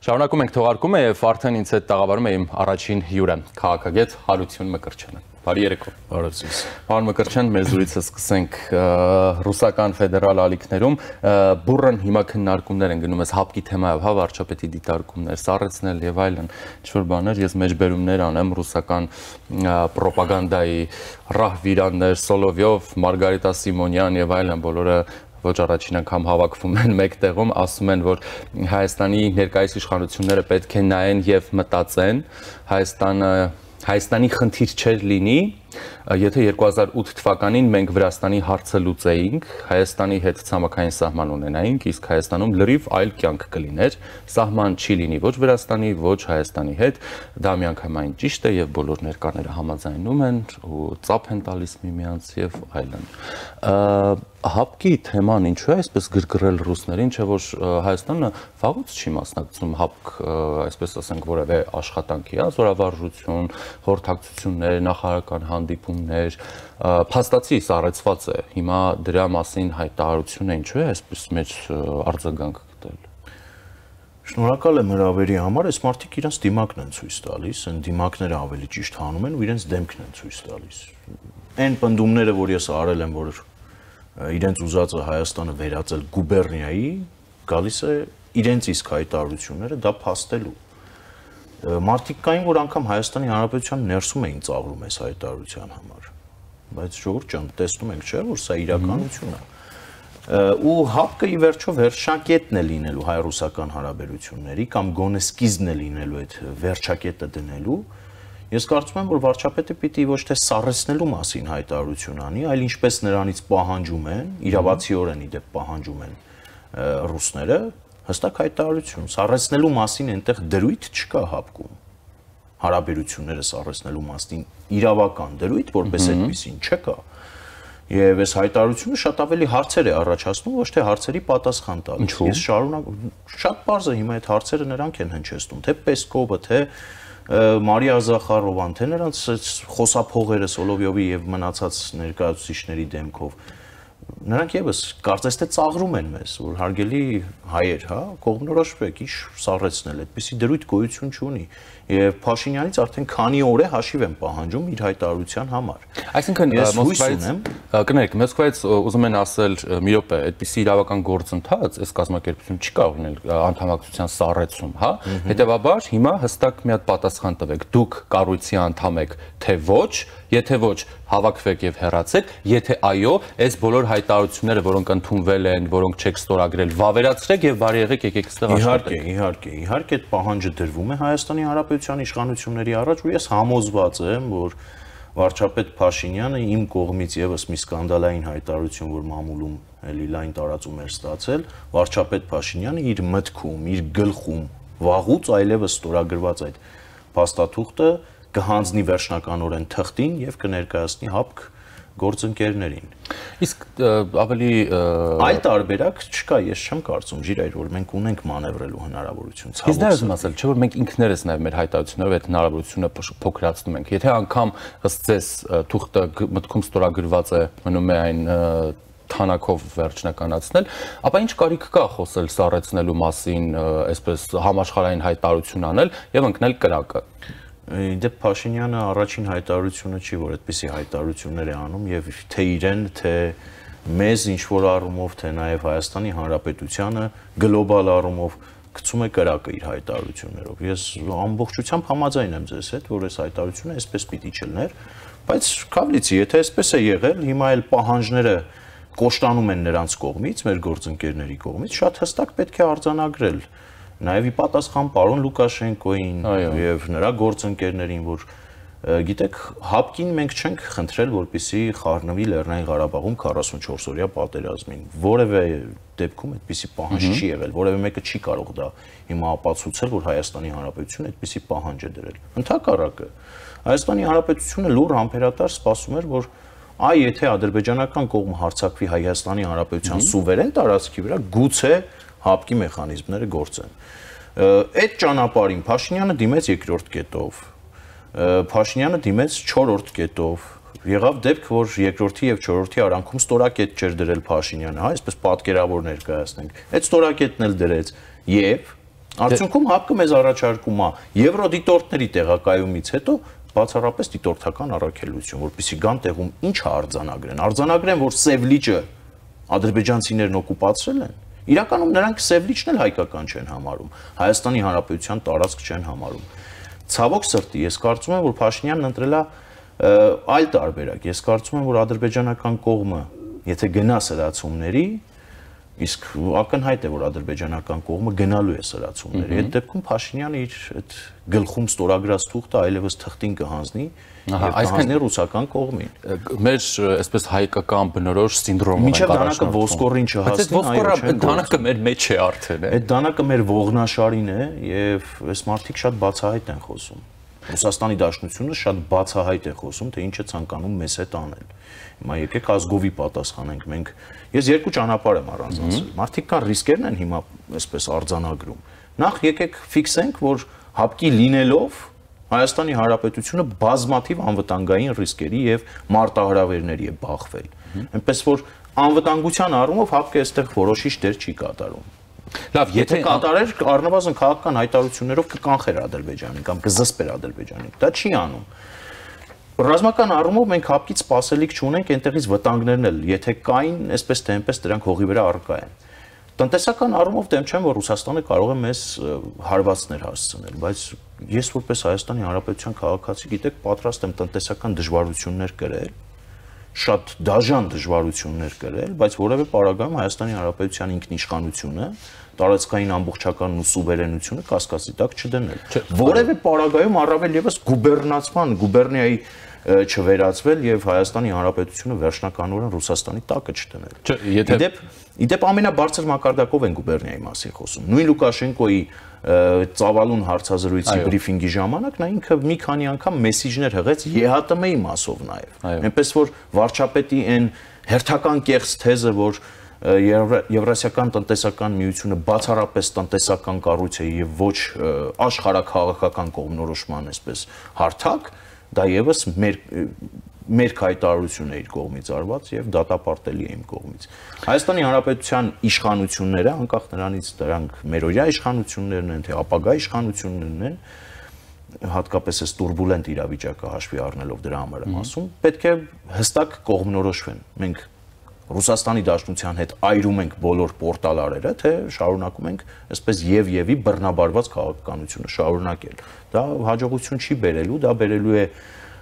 Շարունակում ենք թողարկումը եւ արդեն ինձ հետ տաղավարում է իմ առաջին հյուրը, քաղաքագետ Հարություն Մկրտչյանը։ Բարի երեկո։ Բարև ձեզ։ Պարոն Մկրտչյան, մեր զրույցը սկսենք ռուսական ֆեդերալ ալիքներում բուրըն հիմա քննարկումներ են գնում այս հապկի թեմայով, հա, վարչապետի դիտարկումներ, սառեցնել եւ այլն, ինչ-որ բաներ, ես մեջբերումներ անեմ ռուսական ռոպագանդայի ռահվիրաններ, Սոլովյով, Մարգարիտա Սիմոնյան եւ այլն, բոլորը ոչ առաջին անգամ հավաքվում են մեկ տեղում, ասում են, որ Հայաստանի ներկայիս իշխանությունները պետք է նայեն եւ մտածեն, Հայաստանի խնդիր չէր լինի, եթե 2008 թվականին մենք Վրաստանի հարցը լուծեինք, Հայաստանի հետ ցամաքային սահման ունենայինք, իսկ Հայաստանում լրիվ այլ կյանք կլիներ, սահման չի լինի ոչ Վրաստանի, ոչ Հայաստանի հետ, դա միանգամայն ճիշտ է եւ բոլոր ներկաները համաձայնում են ու ծափ են տալիս միմյանց եւ այլն։ Հապկի թեման ինչու է այսպես գրգռել ռուսներին, չէ՞ որ Հայաստանը վաղուց չի մասնակցում հապկ, այսպես ասենք, որևէ աշխատանքի, զորավարժություն, խորհրդակցություններ, նախարարական հանդիպումներ, փաստացի սառեցված է։ Հիմա դրա մասին հայտարարությունը ինչու է այսպես մեծ արձագանք գտել։ Շնորհակալ եմ հրավերի համար, այս մարդիկ իրենց դիմակն են ցույց տալիս, այն դիմակները ավելի ճիշտ հանում են ու իրենց դեմքն են ցույց տալիս։ Այն պնդումները, որ ես արել եմ, որ իրենց ուզածը Հայաստանը վերածել գուբերնիայի, գալիս է իրենց իսկ հայտարարությունները դա փաստելու։ Մարդիկ կային, որ անգամ Հայաստանի Հանրապետության ներսում էին ծաղրում այս հայտարարության համար, բայց ժողովուրդ ջան, տեսնում ենք, չէ՞, որ սա իրականություն է։ Ու հապկը ի վերջո վերջակետն է լինելու հայ-ռուսական հարաբերությունների կամ գոնե սկիզբն է լինելու այդ վերջակետը դնելու։ Ես կարծում եմ, որ վարչապետը պիտի ոչ թե սառեցնելու մասին հայտարարություն անի, այլ ինչպես նրանից պահանջում են, իրավացիորեն ի դեպ պահանջում են ռուսները, հստակ հայտարարություն, սառեցնելու մասին այնտեղ դրույթ չկա հապկում։ Հարաբերությունները սառեցնելու մասին իրավական դրույթ, որպես այդպեսին չկա։ Եվ այս հայտարարությունը շատ ավելի հարցեր է առաջացնում, ոչ թե հարցերի պատասխան տալիս։ Ես շատ պարզ է հիմա այդ հարցերը նրանք են հնչեցնում, թե Պեսկովը, թե Մարիա Զախարովան, թե նրանց խոսափողերը Սոլովյովի եւ մնացած ներկայացուցիչների դեմքով, նրանք եւս կարծես թե ծաղրում են մեզ, որ հարգելի հայեր, հա, կողմնորոշվեք, ինչ սառեցնել, այդպիսի դրույթ գոյություն չունի։ Եվ Փաշինյանից արդեն քանի օր է հաշիվ եմ պահանջում իր հայտարարության համար։ Այսինքն Մոսկվայից ուզում են ասել մի րոպե, այդպիսի իրավական գործընթաց այս կազմակերպությունը չի կարող լինել անդամակցության սառեցում, հա։ Հետևաբար հիմա հստակ մի հատ պատասխան տվեք, դուք կառույցի անդամ եք, թե ոչ, եթե ոչ, հավաքվեք եւ հեռացեք, եթե այո, այս բոլոր հայտարարությունները, որոնք ընդունվել են, որոնք չեք ստորագրել, վավերացրեք եւ բարի եղեք եկեք այստեղ աշխատեք։ Իհարկե, այդ պահանջը դրվում է Հայաստանի Հանրապետության իշխանությունների առաջ ու ես համոզված եմ, որ վարչապետ Փաշինյանը իմ կողմից եւս մի սկանդալային հայտարարություն, որ մամուլում էլի լայն տարածում էր ստացել, վարչապետ Փաշինյանը իր մտքում, իր գլխում վաղուց այլևս ստորագրված այդ փաստաթուղթը կհանձնի վերջնականորեն թղթին եւ կներկայացնի հապկ գործընկերներին։ Իսկ ավելի այլ տարբերակ չկա, ես չեմ կարծում, Ժիրայր, որ մենք ունենք մանևրելու հնարավորություն։ Իսկ դա ուզում ասել, չէ՞ որ մենք ինքներս նաեւ մեր հայտարարություններով այդ հնարավորությունը փոքրացնում ենք։ Եթե անգամ ըստ ձեզ թուղթը մտքում ստորագրված է, մնում է այն թանակով վերջնականացնել, ապա ինչ կարիք կա խոսել սառեցնելու մասին, այսպես համաշխարհային հայտարարություն անել եւ ընկնել կրակը։ Դե Փաշինյանը առաջին հայտարարությունը չի, որ այդպիսի հայտարարություններ է անում եւ թե իրեն, թե մեզ ինչ որ առումով, թե նաեւ Հայաստանի Հանրապետությանը գլոբալ առումով գցում է կրակը իր հայտարարություններով։ Ես ամբողջությամբ համաձայն եմ ձեզ հետ, որ այս հայտարարությունը այսպես պիտի չլներ, բայց քավլիցի, եթե այսպես է եղել, հիմա էլ պահանջները կոշտանում են նրանց կողմից, մեր գործընկերների կողմից, շատ հստակ պետք է արձանագրել։ Նաև ի պատասխան պարոն Լուկաշենկոին եւ նրա գործընկերներին, որ գիտեք, հապկին մենք չենք խնդրել, որպեսզի խառնվի Լեռնային Ղարաբաղում 44-օրյա պատերազմին։ Որևէ դեպքում այդպիսի պահանջ չի եղել, որևէ մեկը չի կարող դա հիմա ապացուցել, որ Հայաստանի Հանրապետությունը այդպիսի պահանջ է դրել։ Ընդհակառակը, Հայաստանի Հանրապետությունը լուր համբերատար սպասում էր, որ եթե ադրբեջանական կողմը հարձակվի Հայաստանի Հանրապետության սուվերեն տարածքի վրա, գուցե հապկի մեխանիզմները գործեն։ Այդ ճանապարհին Փաշինյանը դիմեց երկրորդ կետով, Փաշինյանը դիմեց 4-րդ կետով, եղավ դեպք, որ երկրորդի եւ չորրորդի արանքում ստորակետ չէր դրել Փաշինյանը, հա, այսպես պատկերավոր ներկայացնենք։ Այդ ստորակետն էլ դրեց եւ Արդյունքում ՀԱՊԿ-ը մեզ առաջարկում է եվրոդիտորդների տեղակայումից հետո բացառապես դիտորդական առաքելություն, որպեսզի գան տեղում ինչ է արձանագրեն։ Արձանագրեն, որ Սև լիճը ադրբեջանցիներն օկուպացրել են։ Իրականում նրանք Սև լիճն էլ հայկական չեն համարում, Հայաստանի Հանրապետության տարածք չեն համարում։ Ցավոք սրտի, ես կարծում եմ, որ Փաշինյանն ընտրել է այլ տարբերակ։ Ես կարծում եմ, որ ադրբեջանական կողմը, եթե գնա սրացումների, իսկ ակնհայտ է, որ ադրբեջանական կողմը գնալու է սրացումների։ Այդ դեպքում Փաշինյանը իր այդ գլխում ստորագրած թուղթը այլևս թղթին կհանձնի եւ կհանձնի ռուսական կողմին։ Մեր այսպես հայկական բնորոշ սինդրոմը մինչև դանակը ոսկորին չհասնի, այդ դանակը մեր մեջ է արդեն։ Այդ դանակը մեր ողնաշարին է եւ այս մարդիկ շատ բացահայտ են խոսում։ Ռուսաստանի Դաշնությունը շատ բացահայտ է խոսում, թե ինչ է ցանկանում մեզ հետ անել։ Հիմա եկեք ազգովի պատասխանենք մենք։ Ես երկու ճանապարհ եմ առանձնացրել։ Մարդիկ կան ռիսկերն են հիմա այսպես արձանագրում։ Նախ եկեք ֆիքսենք, որ ՀԱՊԿ-ի լինելով Հայաստանի Հանրապետությունը բազմաթիվ անվտանգային ռիսկերի եւ մարտահրավերների է բախվել։ Այնպես որ անվտանգության առումով ՀԱՊԿ-ը այստեղ որոշիչ դեր չի կատարում։ Լավ, եթե կատարեր առնվազն քաղաքական հայտարարություններով կկանխեր Ադրբեջանին կամ կզսպեր Ադրբեջանին։ Դա չի անում։ Ռազմական առումով մենք ՀԱՊԿ-ից սպասելիք չունենք, այնտեղից վտանգներն էլ, եթե կային, այսպես թե այնպես դրանք հողի վրա առկա են։ Տնտեսական առումով դեմ չեմ, որ Ռուսաստանը կարող է մեզ հարվածներ հասցնել, բայց ես որպես Հայաստանի Հանրապետության քաղաքացի, գիտեք, պատրաստ եմ տնտեսական դժվարություններ կրել, շատ դաժան դժվարություններ կրել, բայց որևէ պարագայում Հայաստանի Հանրապետության ինքնիշխանությունը, տարածքային ամբողջականն ու սուվերենությունը կասկածի տակ չդնել։ Որևէ պարագայում առավել եւս գուբերնացման, գուբերնիայի չվերածվել եւ Հայաստանի Հանրապետությունը վերջնականորեն Ռուսաստանի տակը չդնել։ Իդեպ ամենաբարձր մակարդակով են գուբերնիայի մասին խոսում։ Նույն Լուկաշենկոյի ծավալուն հարցազրույցի բրիֆինգի ժամանակ նա ինքը մի քանի անգամ մեսիջներ հղեց ԵՀՏՄ-ի մասով նաեւ։ Այնպես որ վարչապետի այն հերթական կեղծ թեզը, որ Եվրասիական տնտեսական միությունը բացառապես տնտեսական կառույց է եւ ոչ աշխարհաքաղաքական կողմնորոշման այսպես հարթակ, դա եւս մեր հայտարարությունն է իր կողմից արված եւ դատապարտելի է իմ կողմից։ Հայաստանի Հանրապետության իշխանությունները, անկախ նրանից դրանք մերօրյա իշխանություններն են, թե ապագա իշխանություններն են, հատկապես այս турբուլենտ իրավիճակը հաշվի առնելով դրա համար եմ ասում, պետք է հստակ կողմնորոշվեն։ Մենք Ռուսաստանի Դաշնության հետ այրում ենք բոլոր պորտալարերը, թե շարունակում ենք այսպես եւի բռնաբարված քաղաքականությունը շարունակել։ Դա հաջողություն չի բերելու, դա բերելու է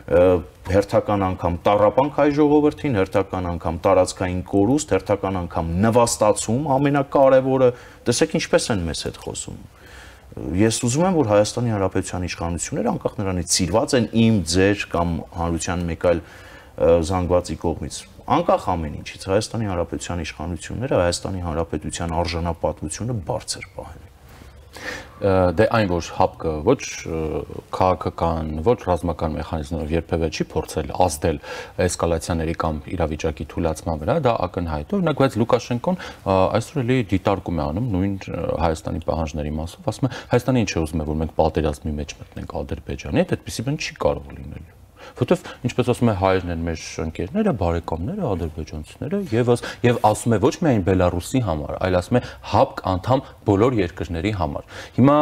հերթական անգամ տառապանք հայ ժողովրդին, հերթական անգամ տարածքային կորուստ, հերթական անգամ նվաստացում, ամենակարևորը, տեսեք ինչպես են մեզ հետ խոսում։ Ես ուզում եմ, որ Հայաստանի Հանրապետության իշխանությունները անկախ նրանից սիրված են իմ, ձեր կամ հանրության մեկ այլ զանգվածի կողմից, անկախ ամեն ինչից, Հայաստանի Հանրապետության իշխանությունները Հայաստանի Հանրապետության արժանապատվությունը բարձր պահեն։ Դե այն որ ՀԱՊԿ-ը ոչ քաղաքական, ոչ ռազմական մեխանիզմներով երբևէ չի փորձել ազդել էսկալացիաների կամ իրավիճակի թույլատման վրա, դա ակնհայտ է։ Օրինակ, բայց Լուկաշենկոն այսօր էլի դիտարկում է անում նույն Հայաստանի պահանջների մասով, ասում է Հայաստանը ինչ է ուզում է, որ մենք պատերազմի մեջ մտնենք Ադրբեջանի հետ, այդպեսի բան չի կարող լինել։ Որտեվ ինչպես ասում է հայերն են մեր ընկերները, բարեկամները, ադրբեջանցիները եւ ասում է ոչ միայն Բելարուսի համար, այլ ասում է ՀԱՊԿ անդամ բոլոր երկրների համար։ Հիմա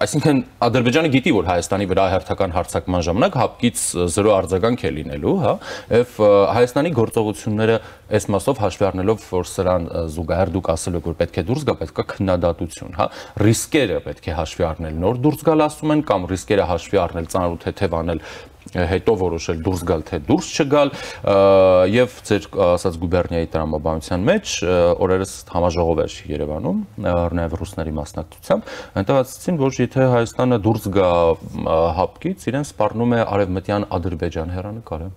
այսինքն Ադրբեջանը գիտի, որ Հայաստանի վրա հերթական հարձակման ժամանակ ՀԱՊԿ-ից զրո արձագանք է լինելու, հա, եւ Հայաստանի գործողությունները այս մասով հաշվի առնելով, որ սրան զուգահեռ դուք ասել եք, որ պետք է դուրս գա, պետք է քննադատություն, հա, ռիսկերը պետք է հաշվի առնել, նոր դուրս գալ ասում են, կամ ռիսկերը հաշվի առնել, ծանր ու թեթև անել, հետո որոշել դուրս գալ թե դուրս չգալ եւ ձեր ասած գուբերնիայի տրամաբանության մեջ օրերս համաժողով էր Երևանում նաեւ ռուսների մասնակցությամբ այնտեղ ասացին որ եթե Հայաստանը դուրս գա ՀԱՊԿ-ից իրեն սպառնում է արևմտյան Ադրբեջան հեռանկարը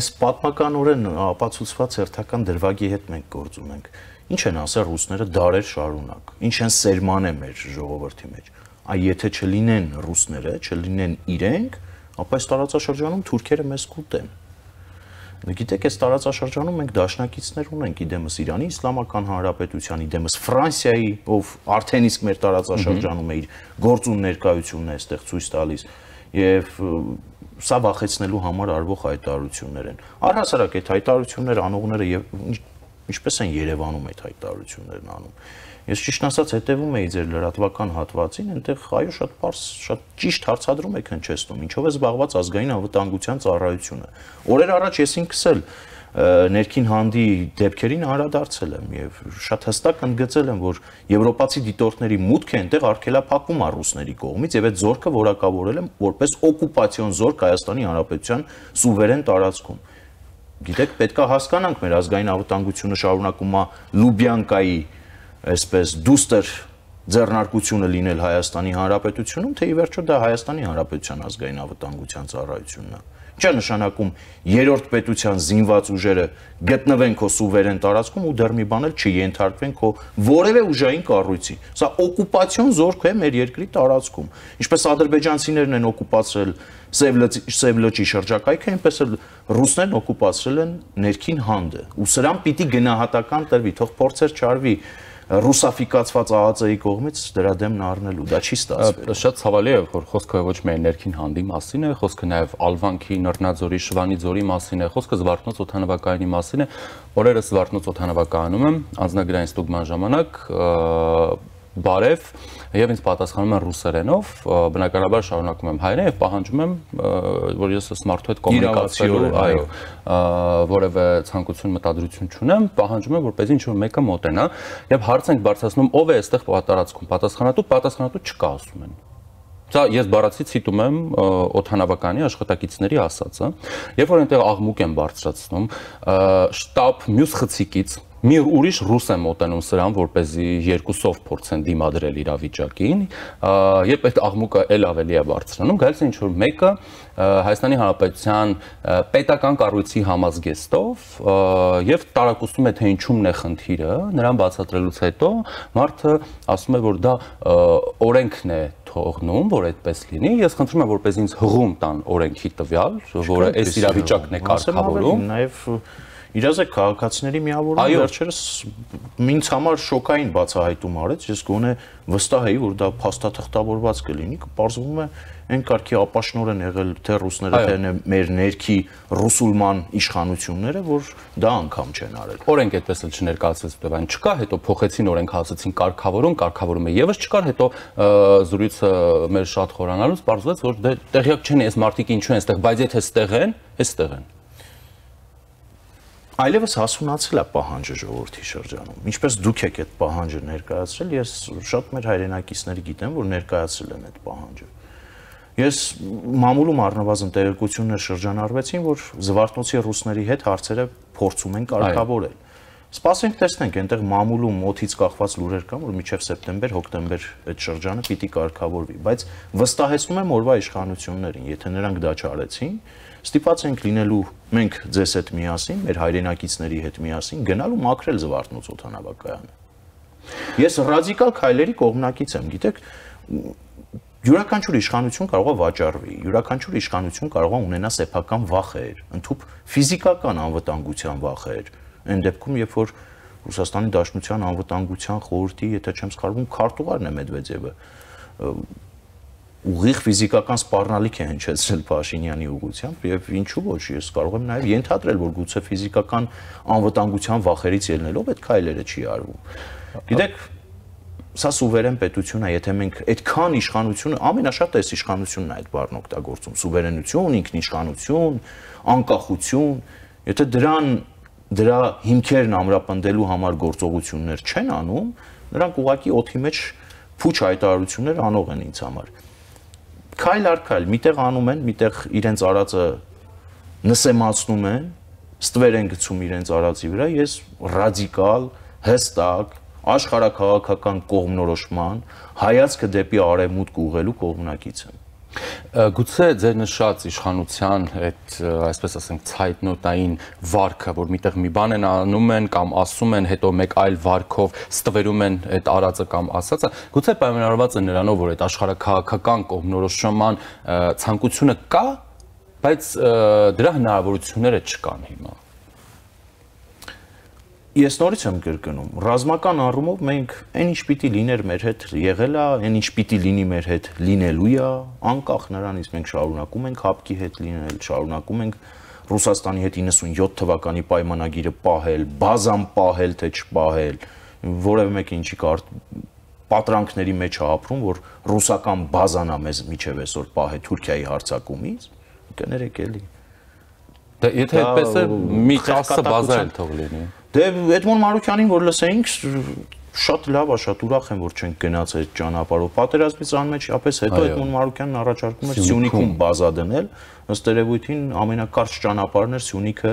այս պատմականորեն ապացուցված հերթական դրվագի հետ մենք գործում ենք ինչ են ասել ռուսները դարեր շարունակ ինչ են սերմանել մեր ժողովրդի մեջ այ եթե չլինեն ռուսները չլինեն իրենք ապա այս տարածաշրջանում թուրքերը մեզ կուտեն։ Գիտեք, այս տարածաշրջանում մենք դաշնակիցներ ունենք իդեմս Իրանի Իսլամական Հանրապետության, իդեմս Ֆրանսիայի, ով արդեն իսկ մեր տարածաշրջանում է իր գործուն ներկայությունն է այստեղ ցույց տալիս եւ սա վախեցնելու համար արվող հայտարարություններ են։ Առհասարակ այդ հայտարարությունները անողները եւ Ինչպես են Երևանում այդ հայտարարություններն անում։ Ես ճիշտ ասած հետևում էի ձեր լրատվական հատվածին, այնտեղ այո շատ ճիշտ հարցադրում եք հնչեցնում, ինչով է զբաղված ազգային անվտանգության ծառայությունը։ Օրեր առաջ ես ինքս էլ ներքին հանդի դեպքերին անդրադարձել եմ եւ շատ հստակ ընդգծել եմ, որ եվրոպացի դիտորդների մուտքը այնտեղ արգելափակում է ռուսների կողմից եւ այդ զորքը որակավորել եմ որպես օկուպացիոն զորք Հայաստանի Հանրապետության սուվերեն տարածքում։ Գիտեք, պետք է հասկանանք, մեր ազգային անվտանգությունը շարունակում է Լուբյանկայի, այսպես դուստր ձեռնարկությունը լինել Հայաստանի Հանրապետությունում, թե ի վերջո դա Հայաստանի Հանրապետության ազգային անվտանգության ծառայությունն է։ Ինչ է նշանակում երրորդ պետության զինված ուժերը գտնվեն քո սուվերեն տարածքում ու դեռ մի բան էլ չենթարկվեն քո որևէ ուժային կառույցի։ Սա օկուպացիոն զորք է մեր երկրի տարածքում։ Ինչպես ադրբեջանցիներն են օկուպացրել Սև լճի շրջակայքը, այնպես էլ ռուսներն օկուպացրել են ներքին հանդը։ Ու սրան պիտի գնահատական տրվի, թող փորձեր չարվի ռուսաֆիկացված ԱԱԾ-ի կողմից դրա դեմն առնելու, դա չի ստացվել։ Շատ ցավալի է, որ խոսքը ոչ միայն ներքին հանդի մասին է, խոսքը նաև Ալվանքի, Նռնաձորի, Շվանի ձորի մասին է, խոսքը Զվարթնոց օդանավակայանի մասին է։ Օրերս Զվարթնոց օդանավակայանում եմ, անձնագրային ստուգման ժամանակ բարև եւ ինձ պատասխանում են ռուսերենով, բնականաբար շարունակում եմ հայերեն եւ պահանջում եմ, որ ես այս մարդու հետ կոմունիկացիա, այո, որևէ ցանկություն մտադրություն չունեմ, պահանջում եմ, որպեսզի ինչ-որ մեկը մոտենա եւ հարց ենք բարձրացնում, ով է այստեղ տարածքում պատասխանատու չկա, ասում են։ Սա ես բառացի ցիտում եմ օդանավականի աշխատակիցների ասածը, երբ որ այնտեղ աղմուկ են բարձրացնում, շտաբ մյուս խցիկից մի ուրիշ ռուս է մոտենում սրան, որպեսզի երկուսով փորձեն դիմադրել իրավիճակին, երբ այդ աղմուկը էլ ավելի է բարձրանում, գալիս է ինչ-որ մեկը Հայաստանի Հանրապետության պետական կառույցի համազգեստով եւ տարակուսում է, թե ինչումն է խնդիրը, նրան բացատրելուց հետո մարդը ասում է, որ դա օրենքն է թողնում, որ այդպես լինի, ես խնդրում եմ, որպեսզի ինձ հղում տան օրենքի տվյալ, որը այս իրավիճակն է կարգավորում, նաեւ իրազեկ քաղաքացիների միավորումը վերջերս ինձ համար շոկային բացահայտում արեց, ես գոնե վստահ էի, որ դա փաստաթղթավորված կլինի, կպարզվում է այն կարգի ապաշնորեն եղել թե ռուսները, թե մեր ներքի ռուսուլման իշխանությունները, որ դա անգամ չեն արել։ Օրենք այդպես էլ չներկայացվեց, դեպ այն չկա, հետո փոխեցին օրենք, ասացին կարգավորումը եւս չկար, հետո զրույցը մեր շատ խորանալուց պարզվեց, որ տեղյակ չեն այս մարդիկ ինչու են այստեղ, բայց եթե այստեղ են, այստեղ են։ Այլևս հասունացել է պահանջը ժողովրդի շրջանում։ Ինչպես դուք եք այդ պահանջը ներկայացրել, ես շատ մեր հայրենակիցների գիտեմ, որ ներկայացրել են այդ պահանջը։ Ես մամուլում առնվազն տեղեկություններ շրջանառվեցին, որ Զվարթնոցի ռուսների հետ հարցերը փորձում են կարգավորել։ Սպասենք տեսնենք, այնտեղ մամուլում օդից կախված լուրեր կան, որ մինչև սեպտեմբեր-հոկտեմբեր այդ շրջանը պիտի կարգավորվի, բայց վստահեցնում եմ օրվա իշխանություններին, եթե նրանք դա չարեցին, ստիպված ենք լինելու մենք ձեզ հետ միասին, մեր հայրենակիցների հետ միասին գնալ ու մաքրել Զվարթնոց օդանավակայանը։ Ես ռադիկալ քայլերի կողմնակից եմ, գիտեք, յուրաքանչյուր իշխանություն կարող է վաճառվի, յուրաքանչյուր իշխանություն կարող է ունենա սեփական վախեր, ընդհանուր ֆիզիկական անվտանգության վախեր։ Այն դեպքում, երբ որ Ռուսաստանի Դաշնության անվտանգության խորհրդի, եթե չեմ սխալվում, քարտուղարն է Մեդվեդևը, ուղիղ ֆիզիկական սպառնալիք է հնչեցրել Փաշինյանի ուղղությամբ եւ ինչու ոչ, ես կարող եմ նաեւ ենթադրել, որ գուցե ֆիզիկական անվտանգության վախերից ելնելով այդ քայլերը չի արվում։ Գիտեք, սա սուվերեն պետություն է, եթե մենք այդքան իշխանություն, ամենաշատը այս իշխանությունն է այդ բառն օգտագործում, սուվերենություն, ինքնիշխանություն, անկախություն, եթե դրա հիմքերն ամրապնդելու համար գործողություններ չեն անում, նրանք ուղղակի օդի մեջ փուչ հայտարարություններ անող են ինձ համար։ Քայլ առ քայլ, միտեղ անում են, միտեղ իրենց արածը նսեմացնում են, ստվեր են գցում իրենց արածի վրա, ես ռադիկալ, հստակ, աշխարհաքաղաքական կողմնորոշման, հայացքը դեպի արևմուտք ուղղելու կողմնակից եմ։ Գուցե ձեր նշած իշխանության այդ, այսպես ասենք, ցայտնոտային վարքը, որ միտեղ մի բան են անում են կամ ասում են, հետո մեկ այլ վարքով ստվերում են այդ արածը կամ ասածը, գուցե պայմանավորված է նրանով, որ այդ աշխարհաքաղաքական կողմնորոշման ցանկությունը կա, բայց դրա հնարավորությունները չկան հիմա։ Ես նորից եմ կրկնում, ռազմական առումով մենք այն ինչ պիտի լիներ մեր հետ եղել է, այն ինչ պիտի լինի մեր հետ լինելու է, անկախ նրանից մենք շարունակում ենք հապկի հետ լինել, շարունակում ենք Ռուսաստանի հետ 97 թվականի պայմանագիրը պահել, բազան պահել, թե չպահել, որևէ մեկը ինչի կար պատրանքների մեջ է ապրում, որ ռուսական բազան է մեզ միջև այսօր պահել Թուրքիայի հարձակումից, կներեք էլի։ Դե եթե այդպես է մի 10 բազա էլ թող լինի։ Դե Էդմոն Մարուկյանին որ լսեինք, շատ լավ է, շատ ուրախ եմ, որ չենք գնաց այդ ճանապարհով։ Պատերազմից անմիջապես հետո Էդմոն Մարուկյանն առաջարկում էր Սյունիքում բազա դնել, ըստ երևույթին ամենակարճ ճանապարհն էր Սյունիքը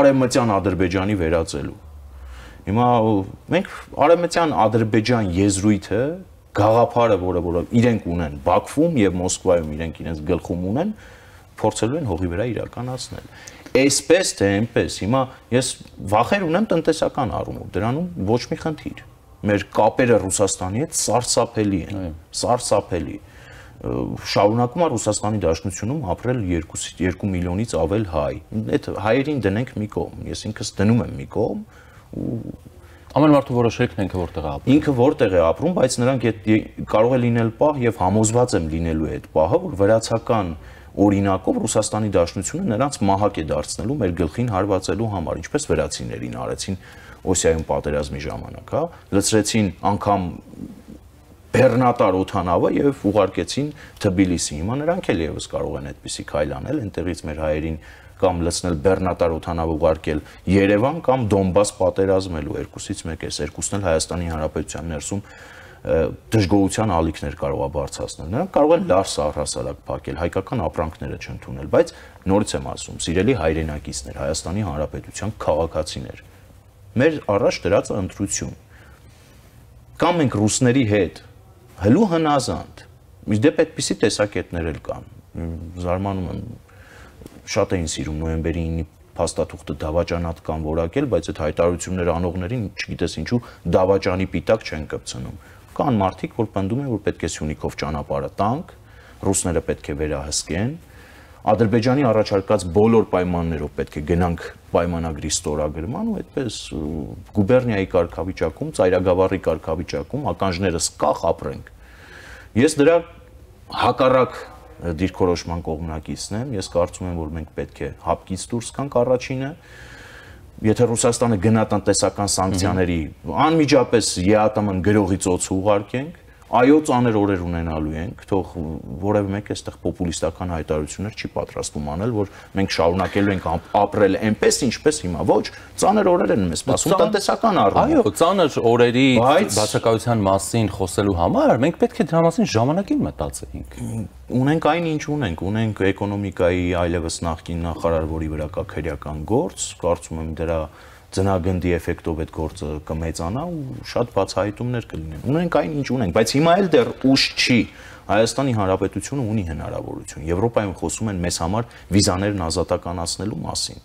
Արևմտյան Ադրբեջանի վերածելու։ Հիմա մենք Արևմտյան Ադրբեջան եզրույթը, գաղափարը, որը իրենք ունեն Բաքվում եւ Մոսկվայում իրենք իրենց գլխում ունեն, փորձելու են հողի վրա իրականացնել։ Այսպես թե այնպես, հիմա ես վախեր ունեմ տնտեսական առումով, դրանում ոչ մի խնդիր։ Մեր կապերը Ռուսաստանի հետ սարսափելի են, սարսափելի։ Շարունակում է Ռուսաստանի Դաշնությունում ապրել 2 միլիոնից ավել հայ։ Այդ հայերին դնենք մի կողմ, ես ինքս դնում եմ մի կողմ ու ամեն մարդու որոշելիքն ինքը որտեղ է ապրում։ Ինքը որտեղ է ապրում, բայց նրանք կարող է լինել պահ եւ համոզված եմ լինելու է այդ պահը, որ վրացական օրինակով Ռուսաստանի Դաշնությունը նրանց մահակ է դարձնելու մեր գլխին հարվածելու համար, ինչպես վրացիներին արեցին Օսիայում պատերազմի ժամանակ, հա, լցրեցին անգամ Բեռնատար օթանավը եւ ուղարկեցին Թբիլիսի։ Հիմա նրանք էլ եւս կարող են այդպիսի քայլ անել, այնտեղից մեր հայերին կամ լցնել Բեռնատար օթանավը ուղարկել Երևան կամ Դոնբաս պատերազմելու, երկուսից մեկ է, երկուսն էլ Հայաստանի Հանրապետության ներսում դժգոհության ալիքներ կարող է բարձրացնել։ Նրանք կարող են լարս առհասարակ փակել, հայկական ապրանքները չընդունել, բայց նորից եմ ասում, սիրելի հայրենակիցներ, Հայաստանի Հանրապետության քաղաքացիներ, մեր առաջ դրած ընտրություն։ Կամ մենք ռուսների հետ հլու հնազանդ, իդեպ այդպիսի տեսակետներ էլ կան։ Զարմանում եմ, շատ էին սիրում նոյեմբերի 9-ի փաստաթուղթը դավաճանական որակել, բայց այդ հայտարարությունները անողներին, չգիտես ինչու, դավաճանի պիտակ չեն կպցնում։ Կան մարդիկ, որ պնդում են, որ պետք է Սյունիքով ճանապարհը տանք, ռուսները պետք է վերահսկեն, Ադրբեջանի առաջարկած բոլոր պայմաններով պետք է գնանք պայմանագրի ստորագրման ու այդպես գուբերնիայի կարգավիճակում, ծայրագավառի կարգավիճակում ականջներս կախ ապրենք։ Ես դրա հակառակ դիրքորոշման կողմնակիցն եմ, ես կարծում եմ, որ մենք պետք է հապկից դուրս գանք առաջինը, եթե Ռուսաստանը գնա տնտեսական սանկցիաների անմիջապես ԵԱՏՄ-ն գրողի ծոցը ուղարկենք, այո, ծանր օրեր ունենալու ենք, թող որևէ մեկ այստեղ պոպուլիստական հայտարարություններ չի պատրաստում անել, որ մենք շարունակելու ենք ապրել այնպես, ինչպես հիմա, ոչ, ծանր օրեր են մեզ սպասում տնտեսական առումով։ Այո, ծանր օրերի բացակայության մասին խոսելու համար մենք պետք է դրա մասին ժամանակին մտածեինք։ Ունենք այն, ինչ ունենք էկոնոմիկայի այլևս նախկին նախարար, որի վրա կա քրեական գործ, կարծում եմ դրա ծնագնդի էֆեկտով այդ գործը կմեծանա ու շատ բացահայտումներ կլինեն։ Ունենք այն, ինչ ունենք, բայց հիմա էլ դեռ ուշ չի։ Հայաստանի Հանրապետությունը ունի հնարավորություն։ Եվրոպայում խոսում են մեզ համար վիզաներն ազատականացնելու մասին։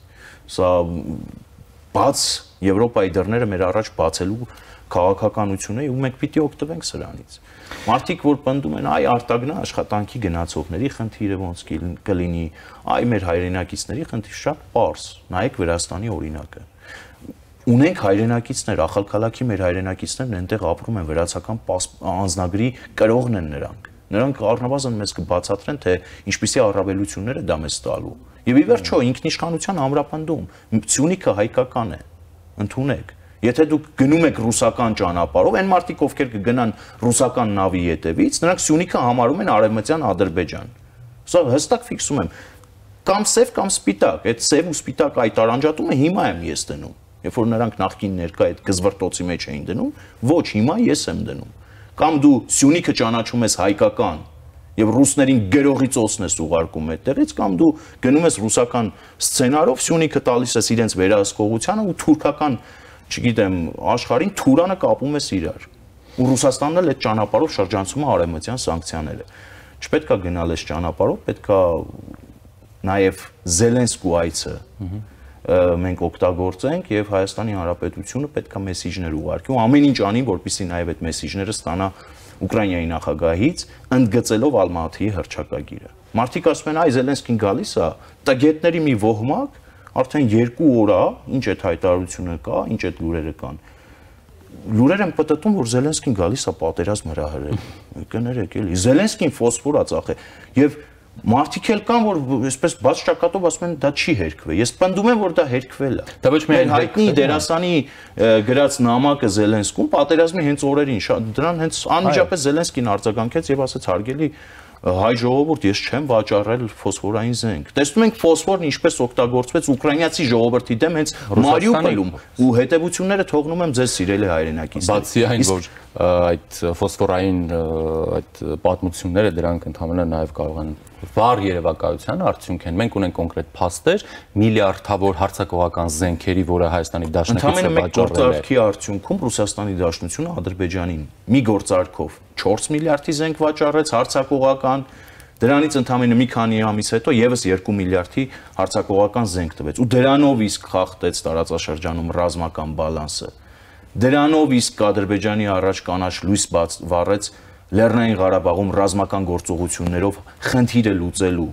Սա բաց Եվրոպայի դռները մեր առաջ բացելու քաղաքականություն է ու մենք պիտի օգտվենք սրանից։ Մարդիկ, որ պնդում են, այ արտագնա աշխատանքի գնացողների խնդիրը ոնց կլինի, այ մեր հայրենակիցների խնդիրը, շատ պարզ։ Նայեք Վրաստանի օրինակը։ Ունենք հայրենակիցներ, Ախալքալաքի մեր հայրենակիցներն այնտեղ ապրում են, վրացական անձնագրի կրողն են նրանք։ Նրանք առնվազն մեզ կբացատրեն, թե ինչպիսի առավելություններ է դա մեզ տալու։ Եվ ի վերջո ինքնիշխանության ամրապնդում Սյունիքը հայկական է, ընդունեք։ Եթե դուք գնում եք ռուսական ճանապարհով, այն մարդիկ, ովքեր կգնան ռուսական նավի ետևից, նրանք Սյունիքը համարում են Արևմտյան Ադրբեջան։ Սա հստակ ֆիքսում եմ։ Կամ սև, կամ սպիտակ, այդ սև ու սպիտակ այդ արանջատումը հիմա եմ ես դնում։ Երբ որ նրանք նախկին ներկա այդ գզվրտոցի մեջ էին դնում, ոչ, հիմա ես եմ դնում։ Կամ դու Սյունիքը ճանաչում ես հայկական եւ ռուսներին գրողի ծոցն ես ուղարկում այդտեղից, կամ դու գնում ես ռուսական սցենարով, Սյունիքը տալիս ես իրենց վերահսկողությանը ու թուրքական, չգիտեմ, աշխարհին Թուրանը կապում ես իրար։ Ու Ռուսաստանն էլ այդ ճանապարհով շրջանցում է արևմտյան սանկցիաները։ Չպետք է գնալ այս ճանապարհով, պետք է նաեւ Զելենսկու այցը մենք օգտագործենք եւ Հայաստանի Հանրապետությունը պետք է մեսիջներ ուղարկի ու ամեն ինչ անի, որպեսզի նաեւ այդ մեսիջները ստանա Ուկրաինայի նախագահից, ընդգծելով Ալմատիի հռչակագիրը։ Մարդիկ ասում են, այ Զելենսկին գալիս է, տագետների մի ոհմակ, արդեն 2 օր է, ինչ այդ հայտարարությունը կա, ինչ այդ լուրերը կան։ Լուրեր են պատտում, որ Զելենսկին գալիս է պատերազմ հրահրել։ Կներեք էլի, Զելենսկին ֆոսֆոր է ծախել եւ Մարդիկ էլ կան, որ այսպես բաց ճակատով ասում են դա չի հերքվել։ Ես պնդում եմ, որ դա հերքվել է։ Դա ոչ միայն հայտնի դերասանի գրած նամակը Զելենսկուն պատերազմի հենց օրերին, դրան հենց անմիջապես Զելենսկին արձագանքեց եւ ասաց հարգելի հայ ժողովուրդ, ես չեմ վաճառել ֆոսֆորային զենք։ Տեսնում ենք ֆոսֆորն ինչպես օգտագործվեց ուկրաինացի ժողովրդի դեմ հենց Մարիուպոլում ու հետևությունները թողնում եմ ձեզ սիրելի հայրենակիցներ։ Բացի այն, որ այդ ֆոսֆորային այդ պատմությունները դրանք ընդհանրապես նաև կարող են վառ երևակայության արդյունք են։ Մենք ունենք կոնկրետ փաստեր, միլիարդավոր հարձակողական զենքերի, որը Հայաստանի Դաշնակիցը վաճառել է։ Գործարքի արդյունքում Ռուսաստանի Դաշնությունը Ադրբեջանին մի գործարքով 4 միլիարդի զենք վաճառեց հարձակողական, դրանից ընդամենը մի քանի ամիս հետո եւս 2 միլիարդի հարձակողական զենք տվեց ու դրանով իսկ խախտեց տարածաշրջանում ռազմական բալանսը։ Դրանով իսկ Ադրբեջանի առաջ կանաչ լույս վառեց Լեռնային Ղարաբաղում ռազմական գործողություններով խնդիրը լուծելու։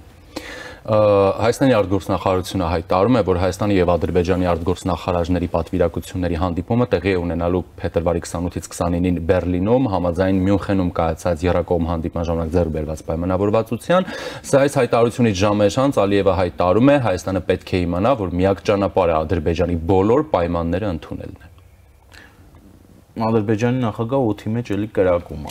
Հայաստանի արտգործնախարարությունը հայտարարում է, որ Հայաստանի եւ Ադրբեջանի արտգործնախարարների պատվիրակությունների հանդիպումը տեղի է ունենալու փետրվարի 28-ից 29-ին Բերլինում համաձայն Մյունխենում կայացած եռակողմ հանդիպման ժամանակ ձեռք բերված պայմանավորվածության։ Սա այս հայտարարությունից ժամեր անց Ալիևը հայտարարում է, Հայաստանը պետք է իմանա, որ միակ ճանապարհը Ադրբեջանի բոլոր պայմանները ընդունելն է։ Ադրբեջանի նախագահը օդի մեջ էլի կրակում է։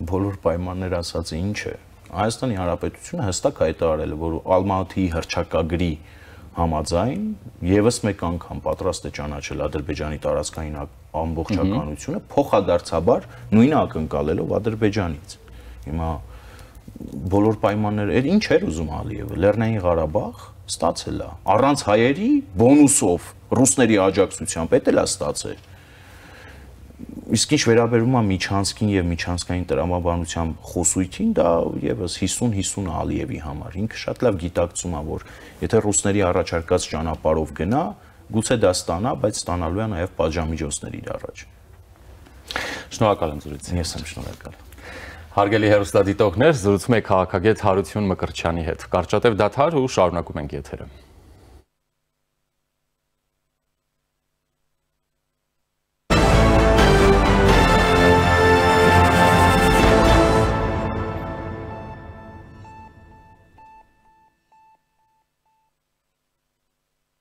Բոլոր պայմաններ ասածը ինչ է։ Հայաստանի Հանրապետությունը հստակ հայտարարել է, որ Ալմատիի հռչակագրի համաձայն եւս մեկ անգամ պատրաստ է ճանաչել Ադրբեջանի տարածքային ամբողջականությունը, փոխադարձաբար նույնը ակնկալելով Ադրբեջանից։ Հիմա բոլոր պայմանները, ինչ էր ուզում Ալիևը, Լեռնային Ղարաբաղ ստացել է, առանց հայերի բոնուսով ռուսների աջակցությամբ էլ է ստացել։ Իսկ ինչ վերաբերում է Միչանսկին եւ միջանցքային տրամաբանության խոսույթին, դա եւս 50-50 Ալիևի համար։ Ինքը շատ լավ գիտակցում է, որ եթե ռուսների առաջարկած ճանապարհով գնա, գուցե դա ստանա, բայց ստանալու է նաեւ պատժամիջոցներ իր առաջ։ Շնորհակալ եմ զրույցին։ Ես եմ շնորհակալ։ Հարգելի հեռուստադիտողներ, զրուցում եք քաղաքագետ Հարություն Մկրտչյանի հետ։ Կարճատև դադար ու շարունակում ենք եթերը։